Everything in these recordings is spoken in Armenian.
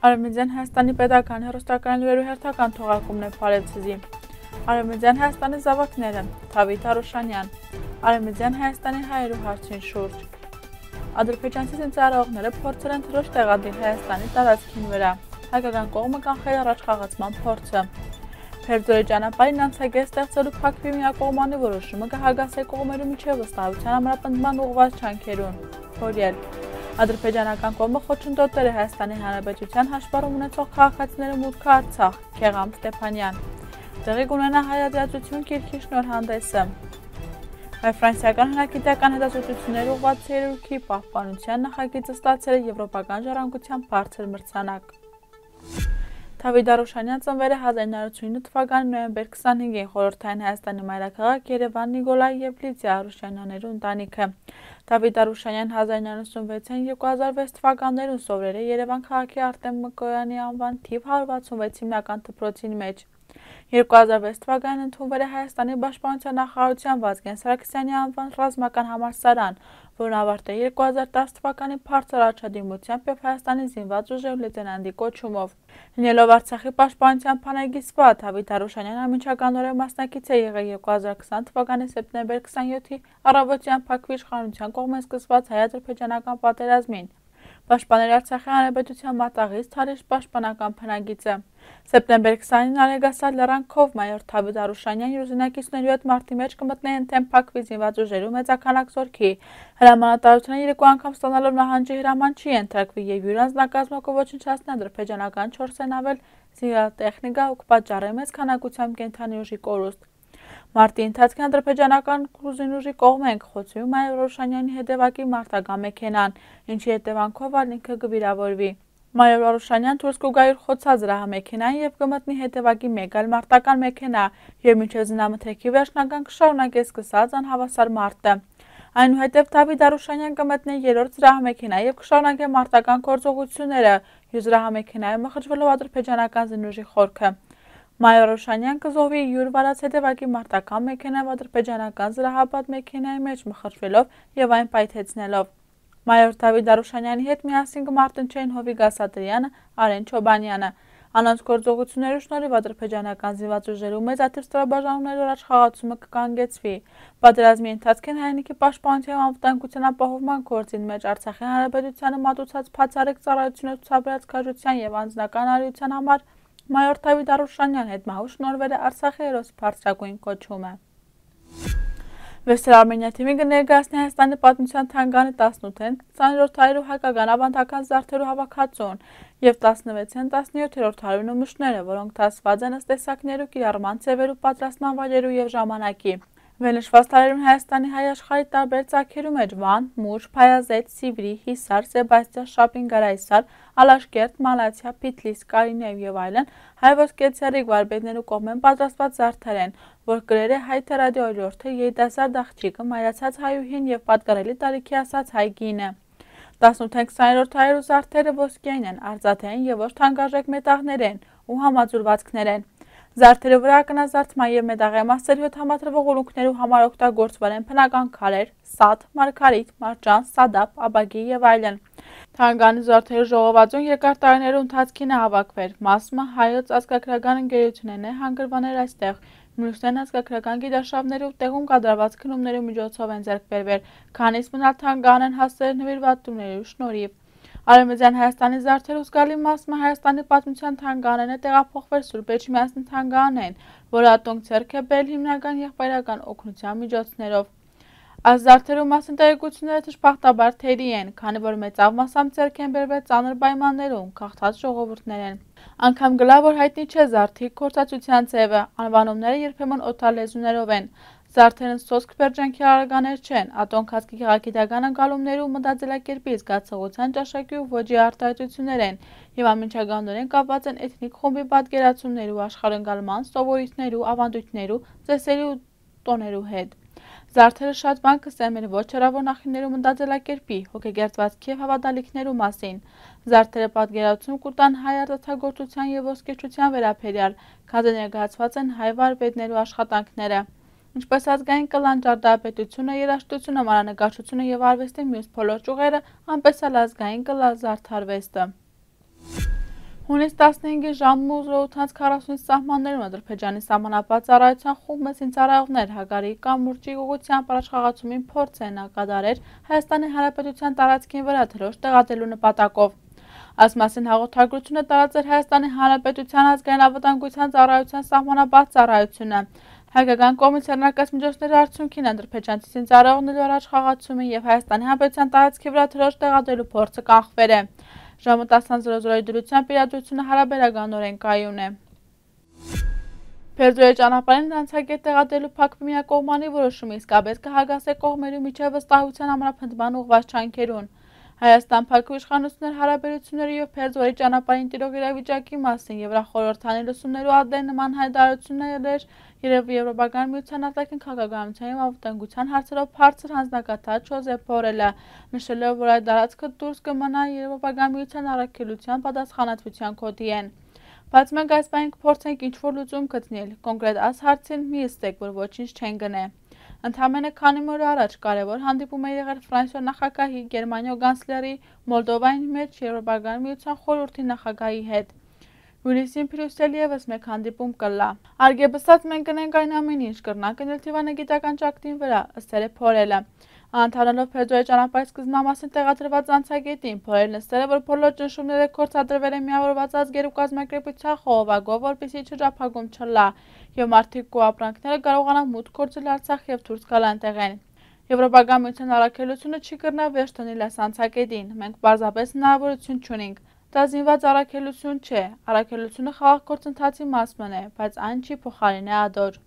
Արևմտյան Հայաստանի պետական հեռուստական լուրերու հերթական թողարկումն է Փարեզի։ Արևմտյան Հայաստանի զավակները Թավիթ Արուշանյան, Արևմտյան Հայաստանի հայերու հարցին շուրջ։ Ադրբեջանցի զինծառայողները փորձել են թռիչք տեղադրել Հայաստանի տարածքին վրա, հայկական կողմը կանխել առաջխաղացման փորձը։ Փերձորի ճանապարհին անցագետ ստեղծելու Փակվի միակողմանի որոշումը կհագասի կողմերու միջև վստահության ամրապնդման ուղղված ջանքերուն։ Օրիել Ադրբեջանական կողմը խոչընդոտել է Հայաստանի Հանրապետության հաշվառում ունեցող քաղաքացիների մուտքը Արցախ, Քեղամ Ստեփանյան։ Տեղի կունենա հայ-ադրբեջանություն գիրքի շնորհանդեսը։ Ֆրանսիական հնագիտական հետազոտությունների ուղղված ցերուքի պահպանության նախագիծը ստացել է Եվրոպական ժառանգության բարձր մրցանակ։ Թավիթ Արուշանյան ծնվել է 1989 թվականի նոյեմբեր 25-ին խորհրդային Հայաստանի մայրաքաղաք Երևան Նիկոլայ եւ Լիդիա Արուշանյաններու ընտանիքը։ Թավիթ Արուշանյան 1996-ին 2006 թվականներուն սովորել է Երևան քաղաքի Արտեմ Մկոյանի անվան թիվ 166 հիմնական դպրոցին մեջ։ 2006 թվականին ընդունվել է Հայաստանի պաշտպանության նախարարության Վազգեն Սարգսյանի անվան ռազմական համալսարան, որն ավարտել է 2010 թվականի բարձր առաջադիմությամբ եւ Հայաստանի զինված ուժերու լեյտենանտի կոչումով։ Լինելով Արցախի պաշտպանության բանակի Թավիթ Արուշանյանը անմիջականորեն մասնակից է եղել 2020 թվականի սեպտեմբեր 27-ի առավոտյան Փակվի իշխանության կողմից սկսված հայ-ադրբեջանական պատերազմին։ Պաշտպանել Արցախի Հանրապետության մատաղից Թալիշ պաշտպանական բնագիծը։ Սեպտեմբեր 20-ին Արեգասար լեռանքով մայոր Թավիթ Արուշանյան իր ուզենակիցներու հետ մարտի մեջ կմտնեն թեմ Փակվի զինված ուժերու մեծականակ զորքի։ Հրամանատարությունը երկու անգամ ստանալով նահանջի հրաման չի ենթարկվի եւ յուր անձնակազմը ոչնչացնի ադրբեջանական 4-ն ավել զինատեխնիկա ու կպատճառի մեծ քանակությամբ կենթանի ուժի կորուստ։ Մարտի ընթացքին ադրբեջանական կրուզին ուժի կողմենք խոցում մայոր Արուշանյանի հետևակի մարտական մեքենան, ինչի հետևանքով ինքը կվիրավորվի։ Մայոր Արուշանյան դուրս կգա իր խոցած զրահամեքենային եւ կմտնի հետևակի մեկ այլ մարտական մեքենա եւ մինչեւ զինամթերքի վերջնական կշարունակի սկսած անհավասար մարտը։ Այնուհետև Թավիթ Արուշանյան կմտնի երրորդ զրահամեքենա եւ կշարունակի մարտական գործողությունները, յուր զրահամեքենայով մխրճվելով ադրբեջանական զինուժի խորքը։ Մայոր Արուշանյան կզոհվի յուր վարած հետևակի մարտական մեքենայով ադրբեջանական զրահապատ մեքենայի մեջ մխրճվելով եւ այն պայթեցնելով։ Մայոր Թավիթ Արուշանյանի հետ միասին կմարտնչեին Հովիկ Ասատրյանը, Արեն Չոբանյանը։ Անոնց գործողություններու շնորհիվ ադրբեջանական զինված ուժերու մեծաթիվ ստորաբաժանումներու առաջխաղացումը կկանգեցվի։ Պատերազմի ընթացքին հայրենիքի պաշտպանության անվտանգության ապահովման գործին մեջ Արցախի Հանրապետությանը մատուցած բացառիկ ծառայություններ ցուցաբերած քաջության եւ անձնական արիության համար մայոր Թավիթ Արուշանյան հետ մահու շնորհվել է Արցախի հերոս բարձրագույն կոչումը։ Վեսել Արմենիա թիմի կներկայացնի Հայաստանի պատմության թանգարանի 18-ին 20-րդ հարյուրու հայկական ավանդական զարդերու հավաքածուն եւ 16-ին 17-րդ հարյուրու նմուշները, որոնք դասված են ըստ տեսակներու, կիրառման ձևերու, պատրաստման վայրերու եւ ժամանակի։ Վերնշված տարերուն Հայաստանի հայ աշխարհի տարբեր ծագերու մեջ Վան, Մուշ, Փայազետ, Սիվրի, Հիսար, Սեբաստիա, Շապինգարայսար, Ալաշկերտ, Մալաթիա, Փիթլիս, Կարինեև եւ այլն հայ ոսկեցերիկ վարպետներու կողմեն պատրաստված զարդեր են, որ գրել է հայ ռադիոյորթը երիտասարդ աղջիկը, մայրացած հայուհին եւ պատկառելի տարիքի ասած հայ կինը։ 18-20-րդ հարյուրու զարդերը ոսկեին են, արծաթային եւ ոչ թանկարժեք մետաղներ են ու համաձուլվածքներ են։ Զարդերի վրա ակնազարդման եւ մետաղամասերի հետ համադրվող ուլունքներու համար օգտագործվել են բնական քարեր, սաթ, մարգարիտ, մարջան, սադապ, աբագի եւ այլն։ Թանգարանի զարդերի ժողովածուն երկար տարիներու ընթացքին է հավաքվել։ Մասը հայոց ազգագրական ընկերությունն է հանգրվաներ այստեղ։ Մյուսներն ազգագրական գիտարշավներու տեղում կատարված քննումներու միջոցով են ձեռք բերվել, քանիսը մնալ թանգարան են հասել նվիրվածություններու շնորհիվ։ Արևմտյան Հայաստանի զարդերու զգալի մասը Հայաստանի պատմության թանգարանն է տեղափոխվել Սուրբ Էջմիածնի թանգարանեն, որը ատոնք ձեռք է բերել հիմնական եղբայրական օգնության միջոցներով։ Այս զարդերու մասին տեղեկությունները դժբախտաբար թերի են, քանի որ մեծավ մասամբ ձեռք են բերվել ծանր պայմաններում, քաղցած ժողովուրդներ են։ Անգամ գլա որ հայտնի չէ զարդի գործածության ձևը, անվանումները երբեմն օտարլեզուներով են։ Զարդերն սոսկ պերջանքի արարկաներ չեն, ատոնք հասկի գեղագիտական ընկալումներու մտածելակերպի զգացողության ճաշակի ու ոճի արտահայտություններ են եւ անմիջականորեն կապված են էթնիկ խումբի պատկերացումներու, աշխարհընկալման, սովորույթներու, ավանդույթներու, ծեսերի ու տոներու հետ։ Զարդերը շատ բան կսեմ են ոչ հեռավոր նախիններու մտածելակերպի, հոգեգերծվածքի եւ հավատալիքներու մասին։ Զարդերը պատկերացում կտան հայ արտադրության եւ ոսկեչության վերաբերյալ, քանի ներկայացված են հայ վարպետներու աշխատանքները։ Ինչպես ազգային կլան ճարտարապետությունը, երաժշտությունը, մանրանկարչությունը եւ արվեստի մյուս բոլոր ճյուղերը, այնպես էլ ազգային կլա զարդարվեստը։ Հունիս 15-ի ժամը 8:40-ից սահմաններում Ադրբեջանի սահմանապատ ծառայության խումբ զինծառայողներ Հագարի կամուրջի ուղղությամբ առաջխաղացումին փորձ են կատարել Հայաստանի Հանրապետության տարածքին վրա դրոշ տեղադրելու նպատակով։ Այս մասին հաղորդագրություն է տարածել Հայաստանի Հանրապետության ազգային անվտանգության ծառայության սահմանապատ ծառայությունը։ Հայկական կողմից հեռանկար միջոցների արդյունքին ադրբեջանցի զինծառայողների առաջխաղացումին եւ Հայաստանի Հանրապետության տարածքի վրա դրոշ տեղադրելու փորձը կանխվել է։ Ժամը 10:00-ի դրությամբ իրադրությունը հարաբերականորեն կայուն է։ Փերձորի ճանապարհին անցագետ տեղադրելու փակվի միակողմանի որոշումը իսկապես կհագասե կողմերի միջև վստահության ամրապնդման ուղղված ջանքերուն։ Հայաստան փակվի իշխանությունների հարաբերությունների եւ Փերձորի ճանապարհին տիրող իրավիճակի մասին Եվրախորհրդանի լսումներու ադեն նման հայտարարություններ երբ Եվրոպական միության արտաքին քաղաքականության եւ անվտանգության հարցերով բարձր հանձնակատար Ջոզեփ Բորելը նշելով, որ այդ տարածքը դուրս կմնա Եվրոպական միության առաքելության պատասխանատվության կոդիեն։ Բայց մենք այս բանը կփորձենք ինչ-որ լուծում գտնել, կոնկրետ այս հարցին մի ստեք, որ ոչինչ չեն գնե։ Ընդամենը քանի օր առաջ կարևոր հանդիպում է եղել Ֆրանսիա նախագահի, Գերմանիա կանցլերի, Մոլդովայի մեջ Եվրոպական միության խորհրդի նախագահի հետ։ Հունիսին Բրյուսել եւս մեկ հանդիպում կլա։ Արգեբսած մենք կնենք այն ամեն ինչ կրնանք գնել դիվանագիտական ճակտին վրա, ըստ Փորելը։ Անդրանալով Փերձորի ճանապարհի սկզբնամասին տեղադրված անցագետին, Փորելն նշել է, որ բոլոր ճնշումները կորցադրվել են միավորված ազգերու կազմակերպության խողովակով, որպեսզի շրջափակում չլա, եւ մարդիկ ու ապրանքները կարողանան մուտք գործել Արցախ եւ դուրս գալ այնտեղեն։ Եվրոպական միության առաքելությունը չի կրնա վերջ դնել այս անցագետին, մենք պարզապես հնարավորություն չունենք։ Դա զինված առաքելություն չէ, առաքելությունը խաղաղ գործընթացի մասն է, բայց այն չի փոխարինի ադոր։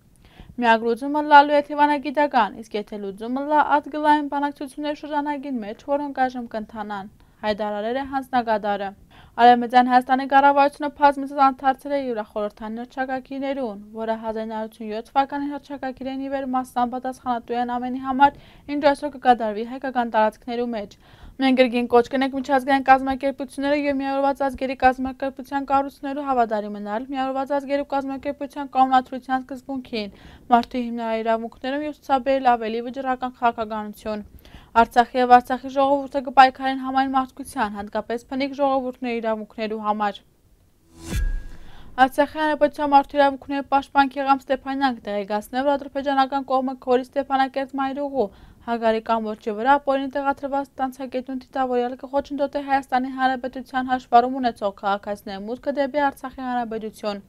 Միակ լուծումը լալու է դիվանագիտական, իսկ եթե լուծումը լա ադգլային բանակցությունների շրջանագին մեջ, որոնք այժմ կընթանան, հայտարարել է հանձնակատարը։ Արևմտյան Հայաստանի կառավարությունը բազմիցս անդրադարձել է Եվրախորհրդանի հռչակագիրներուն, որը 1987 թվականին հռչակագիրն ի վեր մասամբ պատասխանատու են ամենի համար, ինչ այսօր կկատարվի հայկական տարածքներու մեջ։ Մենք գրգին կոչ կնենք միջազգային կազմակերպությունները եւ միավորված ազգերի կազմակերպության կառույցներու հավատարիմ մնալ միավորված ազգերի կազմակերպության կանոնադրության սկզբունքին, մարդու հիմնարար իրավունքներում եւ ցուցաբերել ավելի վճռական քաղաքականություն։ Արցախի եւ Արցախի ժողովուրդը կպայքարեն համայն մարդկության, հատկապես փնիկ ժողովուրդների իրավունքներու համար։ Արցախի հանրապետության մարդու իրավունքների պաշտպան Քեղամ Ստեփանյանն տեղեկացնել, որ ադրբեջանական կողմը Քորի Ստեփանակերտ մայրուղու Հագարի կամուրջի վրա ապօրինի տեղադրված տանցագետուն դիտավորյալ կխոչընդոտի Հայաստանի Հանրապետության հաշվառում ունեցող քաղաքացիների մուտքը դեպի Արցախի Հանրապետություն։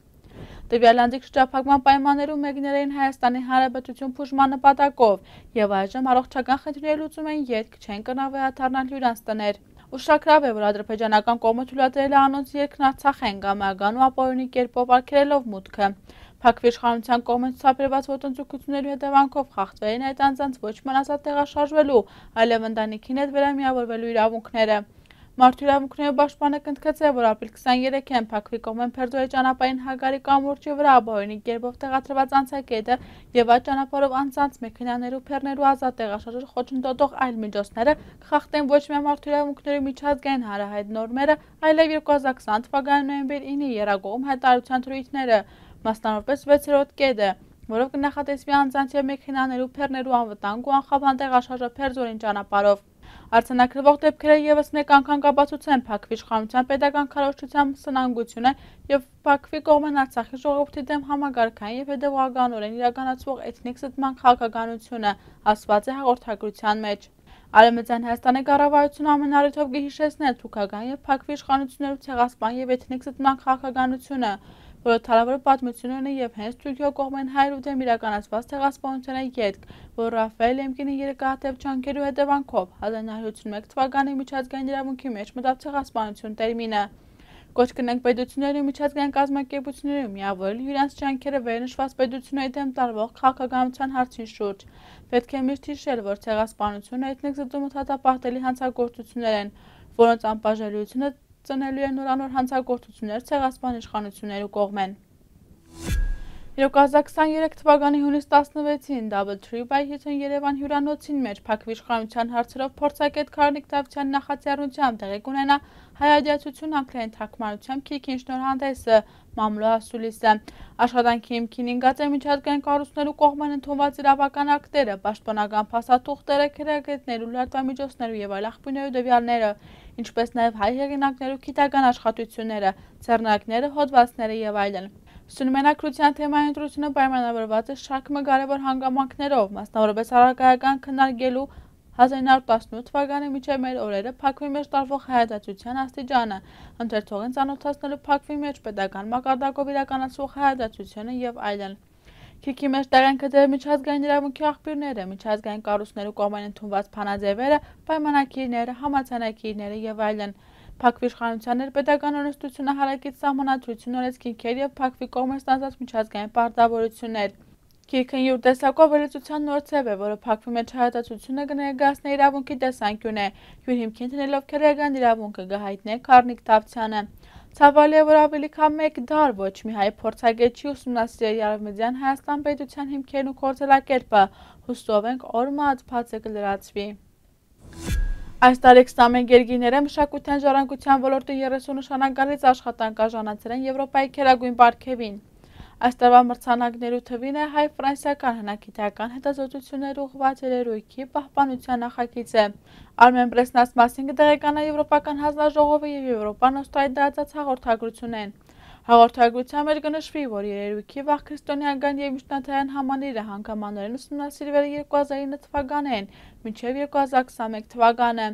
Տվյալ անձիկ շրջափակման պայմաններում մեկնել էին Հայաստանի Հանրապետություն փուժման նպատակով եւ այժմ առողջական խնդիրների լուծում են ետք չեն կրնա վերադառնալ հյուրանց տներ։ Ուշագրավ է, որ ադրբեջանական կողմը թույլատրել է անոնց երկրն Արցախեն գամական ու ապօրինի կերպով արգելելով մուտքը։ Փակվի իշխանության կողմից ցուցաբերված ոտնձգությունների հետևանքով խախտվել են այդ անձանց ոչ մնացած տեղաշարժվելու, այլև ընտանիքին հետ վերամիավորվելու իրավունքները։ Մարդու իրավունքների պաշտպանը կընդգծել, որ ապրիլ 23-ին Փակվի կողմեն Փերձորի ճանապարհին Հագարի կամուրջի վրա ապօրինի կերպով տեղադրված անցագետը եւ այդ ճանապարհով անցած մեքենաներու փեռներու ազատ տեղաշարժը խոչընդոտող այլ միջոցները կխախտեն ոչ միայն մարդու իրավունքների միջազգային հանրահայտ նորմերը, այլև 2020 թվականի նոյեմբեր 9-ի Երագողում հայտարարության թրույթները, մասնավորապես 6-րդ կետը, որով կնախատեսվի անձանց եւ մեքենաներու փեռներու անվտանգ ու անխափան տեղաշարժը Փերձորին ճանապարհով։ Արձանագրվող դեպքերը եւս մեկ անգամ կապացուցեն Փակվի իշխանության պետական քարոզչության սնանկությունը եւ Փակվի կողմեն Արցախի ժողովրդի դեմ համագարկային եւ հետեւողականորեն իրականացվող էթնիկ զտման քաղաքականությունը, ասված է հաղորդագրության մեջ։ Արևմտյան Հայաստանի կառավարությունը ամեն առիթով կհիշեցնել թուրքական եւ Փակվի իշխանություններու ցեղասպան եւ էթնիկ զտման քաղաքականությունը, որը թարավոր պատմություն ունի եւ հենց Թուրքիա կողմեն հայրու դեմ իրականացված ցեղասպանության ետք, որ Ռաֆայել Էմկինի երկաթև ջանքերու հետևանքով 1951 թվականի միջազգային իրավունքի մեջ մտավ ցեղասպանություն տերմինը։ Կոչ կնենք պետությունների ու միջազգային կազմակերպությունների միավորել իրենց ջանքերը վերնշված պետությունների դեմ տարվող քաղաքականության հարցին շուրջ։ Պետք է միշտ հիշել, որ ցեղասպանությունը էթնիկ զտումը դատապարտելի հանցագործություններ են, որոնց անբաժանելիությունը ծնելու է նորանոր հանցագործություններ ցեղասպան իշխանություններու կողմեն։ 2023 թվականի հունիս 16-ին Double Tree by Hilton Երևան հյուրանոցին մեջ Փակվի իշխանության հարցերով փորձագետ Քարնիկ Դավթյանի նախաձեռնությամբ տեղի կունենա հայ ադիացություն անգլերեն թարգմանությամբ քիքին շնորհանդեսը, մամլո ասուլիսը։ Աշխատանքի հիմքին ինգած է միջազգային կառույցներու կողմեն ընդունված իրավական ակտերը, պաշտպանական փաստաթուղթերը, քրեագետներու, լրատվամիջոցներու եւ այլ աղբյուրներու դեպիալները, ինչպես նաեւ հայ հեղինակներու գիտական աշխատությունները, ձեռնարկները, հոդվածները եւ այլն։ Սյունմենակրության թեմայի ընտրությունը պայմանավորված է շարք կարևոր հանգամանքներով, մասնավորապես առարկայական քննարկելու 1918 թվականի միջև մեր օրերը Փակվի մեջ տարվող հայադատության աստիճանը, ընթերցողին ծանոթացնելու Փակվի մեջ պետական մակարդակով իրականացվող հայադատությունը եւ այլն։ Քիքի մեջ տեղեն գտել միջազգային իրավունքի աղբյուրները, միջազգային կառույցներու կողմեն ընդունված փանաձևերը, պայմանագիրները, համաձայնագիրները եւ այլն։ Փակվի իշխանության ներպետական օրենսդրությունը հարակից սահմանադրություն օրենսգիրքեր եւ Փակվի կողմեն ստանձնած միջազգային պարտավորություններ։ Քիրքն յուր տեսակով վերլուծության նոր ցև է, որը Փակվի մեջ հայադատությունը կներկայացնի իրավունքի տեսանկյուն է, յուր հիմքին դնելով քրեական իրավունքը կհայտնի Քարնիկ Թավթյանը։ Ցավալի է, որ ավելի քան մեկ դար ոչ մի հայ փորձագետ չի ուսումնասիրել Արևմտյան Հայաստան պետության հիմքերն ու գործելակերպը, հուսով ենք օրմած բացը կլրացվի։ Այս տարի 21 երկիրները մշակութային ժառանգության ոլորտի 30 նշանակալից աշխատանք արժանացել են Եվրոպայի քերագույն պարգևին։ Այս տարվա մրցանակներու թվին է հայ-ֆրանսիական հնագիտական հետազոտություններ ուղղված երերույթի պահպանության նախագիծը։ Armen Press-ն այս մասին կտեղեկանա Եվրոպական հանձնաժողովը եւ Եվրոպան Օստրալիայի դրած հաղորդագրությունեն։ Հաղորդագրության մեջ կնշվի, որ երերույթի վաղ քրիստոնեական եւ միջնադարյան համալիրը հանգամանորեն ուսումնասիրվել է 2009 թվականին, մինչեւ 2021 թվականը։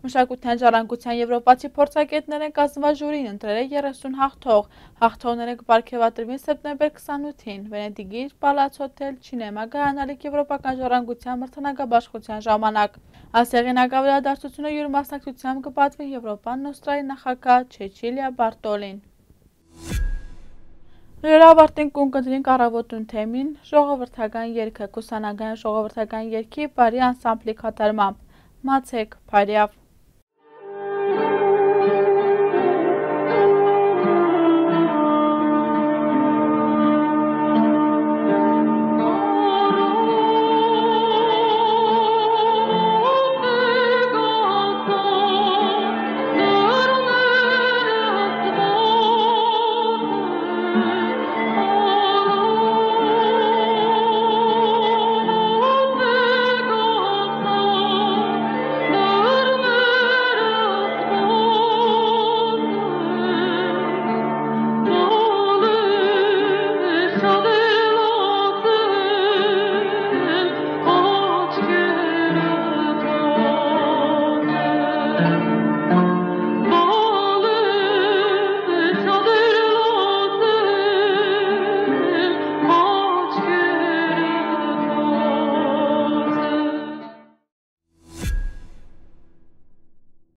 Մշակութային ժառանգության եվրոպացի փորձագետներ են կազմված ժյուրին ընտրել է 30 հաղթող։ Հաղթողները կպարգևատրվին սեպտեմբեր 28-ին Վենետիգի Պալաց հոթել Չինեմա գայանալիք եվրոպական ժառանգության մրցանակաբաշխության ժամանակ։ Այս հեղինակավերադարձությունը յուր մասնակցությամբ կպատվի Եվրոպան Օստրալիայի նախագահ Չեչիլիա Բարտոլին։ Լրավարտին կունկնդրին կառավոտուն թեմին ժողովրդական երգը, կուսանագային ժողովրդական երգի բարի անսամբլի կատարմամբ։ Մացեք, Փարիավ։